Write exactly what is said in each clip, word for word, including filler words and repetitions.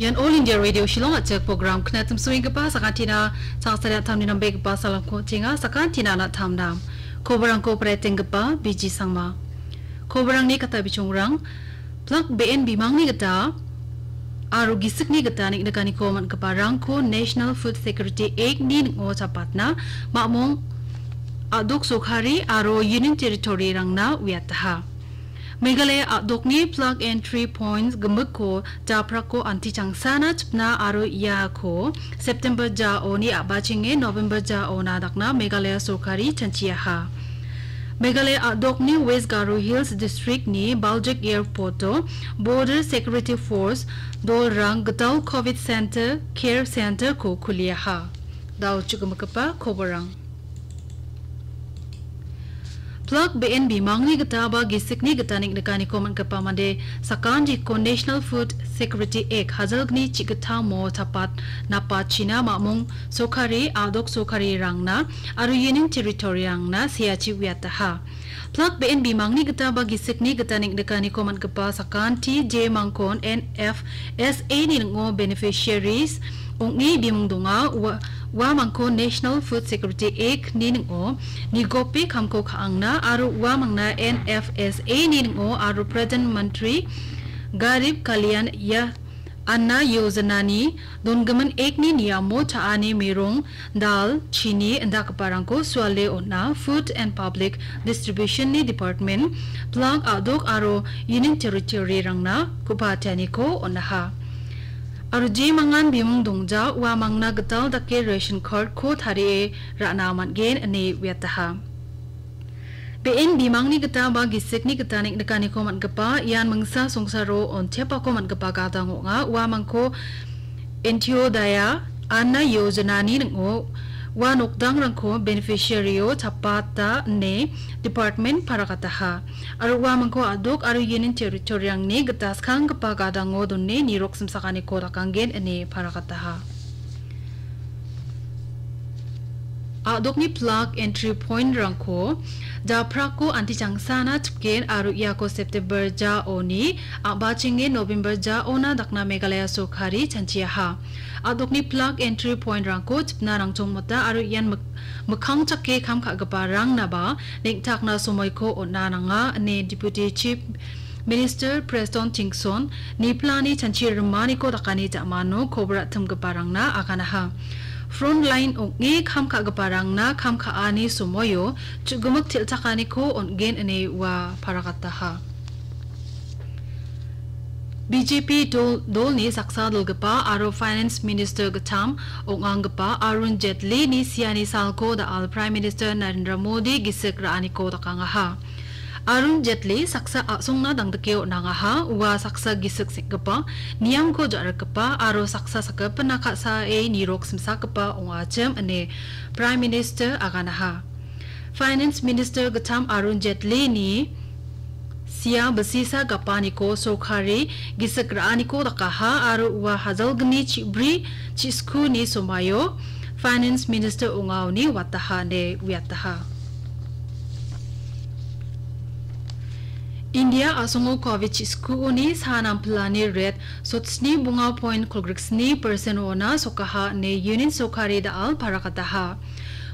Ian All India Radio Shillong a·chik program knatim suenggipa sakantina, sangsari a·tamni nambegipa salamko tenga, sakantina na·tamna. Koborangko paretenggipa Biji Sangma. Koborangni kata bichongrang, plak be·en bimangni gita aro gisikni gita neng·nikaniko man·giparangko National Food Security Act ni ning·o chapatna mamung a·dok sorkari aro Union Territory-rangna uiataha. Meghalaya a·dokni plak entry points gimikko japrako antichangsana chipna aro iako September jaoni a·bachenge November jaona dakna Meghalaya sorkari chanchiaha. Meghalaya a·dokni West Garo Hills District-ni Baljek Airport-o Border Security Force dolrang gital covid center, care center-ko kuliaha. Dao chukgimikipa koborang. Plak be·en bimangni gita ba gisikni gita neng·nikaniko man·gipa mande sakantiko National Food Security Act hajalgni chi·gittamo chapat napachina mamung sorkari, a·dok sorkarirangna aro Union Territory-rangna seachi uiataha. Plak be·en bimangni gita ba gisikni gita neng·nikaniko man·gipa sakanti jemangkon N F S A ni ning·o beneficiaries ong·e bimung donga. Ua-, uamangko National Food Security Act ni ning·o nigope kamko ka·angna aro uamangna N F S A ni ning·o aro Pradhan Mantri Garib Kalyan Ya-, Anna Yojana-ni donggimin Act-ni niamo cha·ani, merong, dal, chini indakgiparangko suale on·a Food and Public Distribution-ni Department, plak a·dok aro Union Territory-rangna ku·patianiko on·aha. Aro jemangan bimung dongja uamangna gital dake ration card-ko tarie ra·na man·gen ine uiataha. Be·en bimangni gita ba gisikni gita neng·nikaniko man·gipa ian mingsa songsaro ontiapako man·gipa gadang ong·a. Uamangko Antyodaya Anna Yojana-ni ning·o ua nokdangrangko beneficiary-o chapata ine department parakataha. Aro uamangko a·dok aro Union Territory-rangni gita skanggipa gadango done nirok simsakaniko dakanggen ine parakataha. A·dokni plak entry point-rangko japrako antichangsana chipgen aro iako September jaoni a·bachenge November jaona dakna Meghalaya sorkari chanchiaha. A·dokni plak entry point-rangko chipna rangchongmota aro ian mik-, mikkang chake kam ka·giparangnaba neng·takna somoiko on·a nanga ine Deputy Chief Minister Prestone Tynsong niplani chanchi rimaniko dakani ja·mano kobor a·timgiparangna aganaha. Frontline ong·e kam ka·giparangna kam ka·ani somoio chu·gimik til·chakaniko on·gen ine ua paragataha. B J P dol-, dolni saksa dilgipa aro Finance Minister gittam ong·anggipa Arun Jaitlini siani salko da·al Prime Minister Narendra Modi gisik ra·aniko dakangaha. Arun Jaitley saksa a·songna dangdike on·angaha, ua saksa gisik seng·gipa, niamko ja·rikgipa aro saksa sakgipina ka·sae nirok simsagipa ong·achim ine Prime Minister aganaha. Finance Minister gittam Arun Jaitley-ni sia bilsisa gapaniko sorkari gisik ra·aniko dakaha aro ua hajalgni chi·bri chi·skuni somaio Finance Minister ong·aoni wataha ine uiataha. India a·songo covid chi·skuoni sa nampilani rate sotsni bonga point kolgriksni percent-ona sokaha ine Union sorkari da·al parakataha.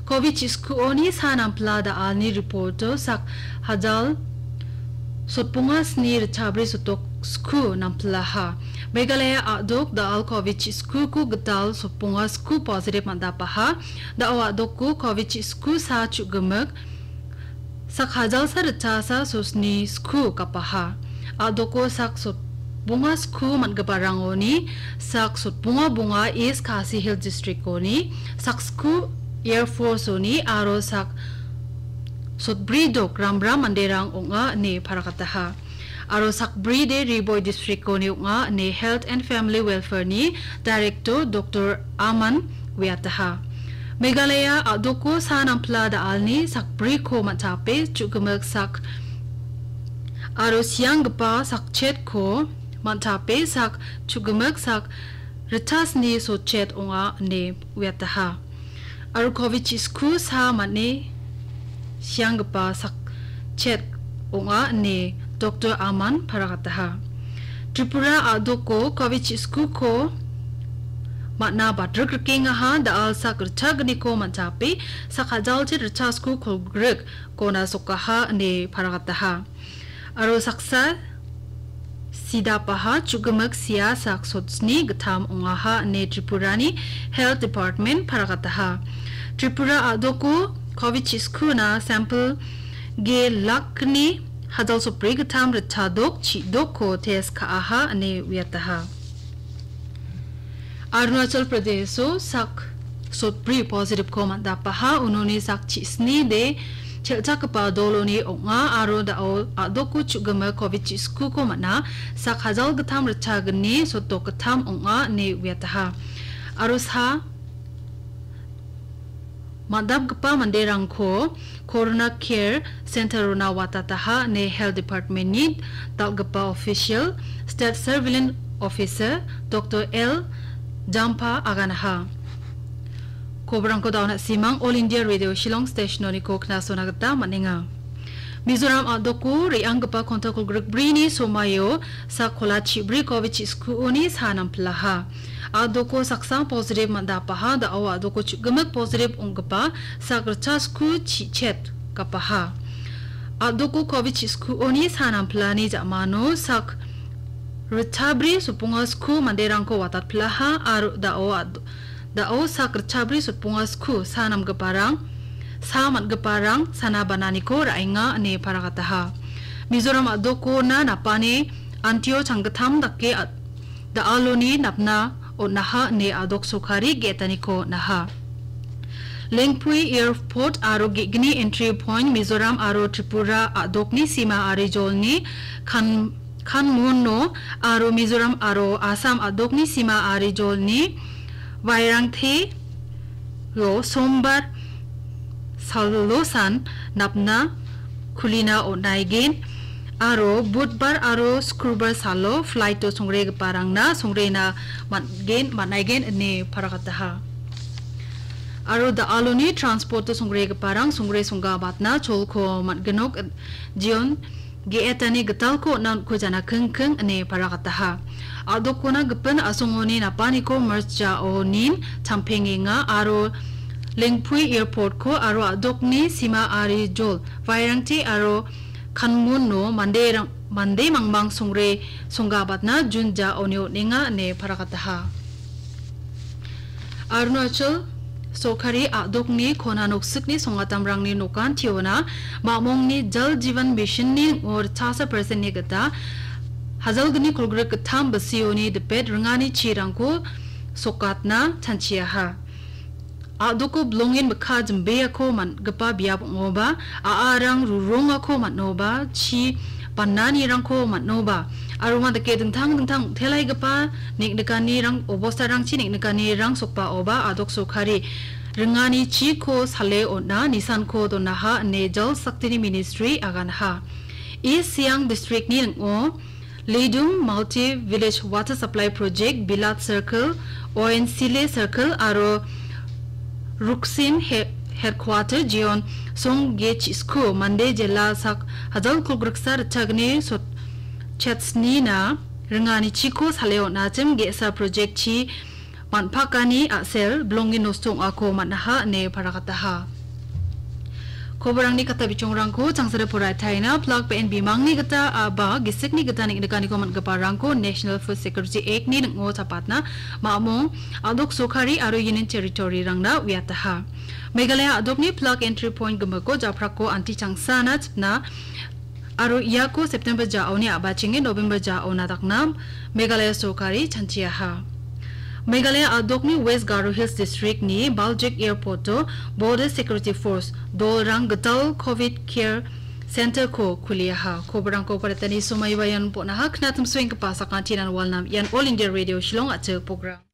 Covid chi·skuoni sa nampila da·alni report-o sak hajal sotbonga sni ritchabri sotok sku nampilaha. Meghalaya a·dok da·al covid chi·skuko gital sotbonga sku positive man·dapaha. Da·o a·dokko covid chi·sku sa chu·gimik sak hajalsa ritchasa sosni sku gapaha. A·doko sak sotbonga sku man·giparangoni sak sotbonga bonga East Khasi Hills District-oni, sak sku Air Force-oni aro sak sotbri dok ramram manderang ong·a ine parakataha. Aro sakbri de Ri Bhoi District-oni ong·a ine Health and Family Welfare-ni Director Doctor Aman uiataha. Meghalaya a·doko sa nampila da·alni sakbriko man·chape chu·gimik sak aro sianggipa sakchetko man·chape sak chu·gimik sak ritchasni sotchet ong·a ine uiataha. Aro covid chi·sku sa man·e sianggipa sakchet ong·a ine Doctor Aman parakataha. Tripura a·doko covid chi·skuko man·a badrik rikengaha, da·al sak ritchagniko man·jape, sak hajalchi ritchasku kolgrik kona sokaha ine paragataha. Aro saksa sidapaha chu·gimik sia sak sotsni gittam ong·aha ine Tripurani Health Department paragataha. Tripura a·doko covid chi·skuna sample ge lakni hajal sopri gittam ritchadok chi·dokko test ka·aha ine uiataha. Arunachal Pradesh-o sak sotbri positive-ko man·dapaha, unoni sak chisni de chelchakgipa doloni ong·a aro da·o a·doko chu·gimik covid chi·skuko man·a, sak hajal gittam ritchagni sotdok gittam ong·a ine uiataha. Aro sa man·dapgipa manderangko Corona Care Center-ona watataha ine Health Department-ni dal·gipa official State Surveillance Officer Doctor L Jampa aganaha. Koborangko daona simang All India Radio Shillong Station-oniko knasona gita man·enga. Mizoram a·doko re·anggipa kontak kolgrik brini somaio sak kola chibri covid chi·skuoni sa nampilaha. A·doko saksa positive man·dapaha, da·o a·doko chu·gimik positive ong·gipa sak ritchasku chi-, chet gapaha. A·doko covid chi·skuoni sa nampilani ja·mano sak ritchabri soponga sku manderangko watatpilaha aro da·o a-, da·o sak ritchabri soponga sku sa namgiparang, sa man·giparang sana bananiko ra·enga ine paragataha. Mizoram a·dokona napani antio changgittam dake a-, da·aloni napna on·aha ine a·dok sorkari ge·etaniko on·aha. Lengpui Airport aro ge·gni entry point Mizoram aro Tripura a·dokni sima ari jolni kan-, Kanmuno aro Mizoram aro Assam a·dokni sima ari jolni Vairangte-o Sombar salosan napna kulina on·aigen aro Budbar aro Skrubar salo flight-o songregiparangna songrena man·gen, man·aigen ine paragataha. Aro da·aloni transport-o songregiparang songre songgabatna cholko man·ginok, jion ge·etani gitalko on·na on·ko jana kingking ine paragataha. A·dokona gipin a·songoni napaniko March jaonin champengenga aro Lengpui Airport-ko aro a·dokni sima ari jol Vairangte aro Kanmuno manderang, mande mangmang songre songgabatna June jaoni on·enga ine paragataha. Arunachal sorkari a·dokni kona noksikni songatamrangni nokantiona mamongni Jal Jeevan Mission-ni ritchasa percent-ni gita hajalgni kolgrik gittam bisioni dipet ringani chirangko sokatna chanchiaha. A·doko bilongen mikka jimbeako man·gipa biap ong·oba, a·arang rurongako man·oba, chi bananirangko man·oba, aro ua dake dingtang dingtang ong·telaigipa neng·nikanirang, obostarangchi neng·nikanirang sokbaoba a·dok sorkari ringani chiko sale on·na nisanko donaha ine Jal Shakti-ni ministry aganaha. East Siang district-ni ning·o Lidum Multi Village Water Supply Project, Bilat Circle, Oensile Circle aro Ruksin he-, Headquarter Jeon Song Ge Chisku, mande jela sak hajal kolgriksa ritchagni sot-, chetsnina ringani chiko sale on·achim ge·sa project chi man·pakani a·sel bilongen nosto ong·ako man·aha ine paragataha. Koborangni kata bichongrangko changsare poraitaina plak be·en bimangni gita a-, ba gisikni gita neng·nikaniko man·giparangko National Food Security Act-ni ning·o chapatna mamong a·dok sorkari aro Union Territory-rangna uiataha. Meghalaya a·dokni plak entry point gimiko japrako anti changsana chipna aro iako September jaoni a·bachenge November jaona dakna Meghalaya sorkari chanchiaha. Meghalaya a·dokni West Garo Hills District-ni Baljek Airport-o Border Security Force dolrang gital covid care center-ko kuliaha. Koborangko paritani somaiba ian bon·aha, knatim soenggipa sakantinan walnam ian All India Radio Shillong a·chik program.